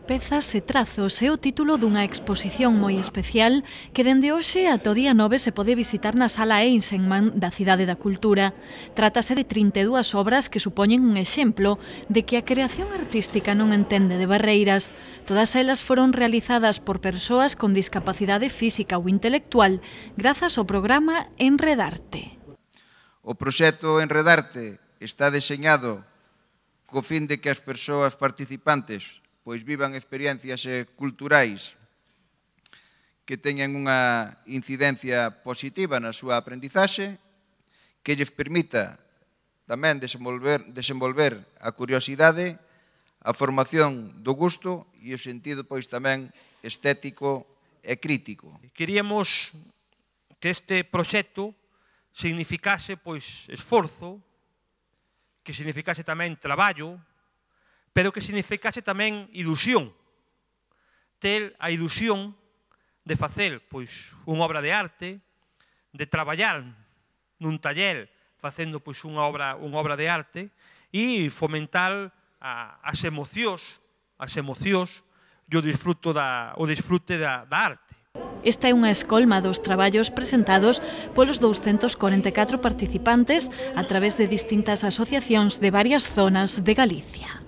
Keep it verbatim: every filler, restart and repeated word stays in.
Pezas e trazos é o título dunha exposición moi especial que dende hoxe ata o día nove se pode visitar na Sala Eisenman da Cidade da Cultura. Trátase de trinta e dúas obras que supoñen un exemplo de que a creación artística non entende de barreiras. Todas elas foron realizadas por persoas con discapacidade física ou intelectual grazas ao programa Enredarte. O proxecto Enredarte está deseñado co fin de que as persoas participantes pois vivan experiencias culturais que teñan unha incidencia positiva na súa aprendizaxe, que lles permita tamén desenvolver, desenvolver a curiosidade, a formación do gusto e o sentido pois tamén estético e crítico. Queríamos que este proxecto significase pois esforzo, que significase tamén traballo, pero que significase tamén ilusión. Ter a ilusión de facer pois unha obra de arte, de traballar nun taller facendo pois unha obra, unha obra de arte e fomentar a, as emocións, as emocións e o disfrute da, o disfrute da, da arte. Esta é unha escolma dos traballos presentados polos douscentos corenta e catro participantes a través de distintas asociacións de varias zonas de Galicia.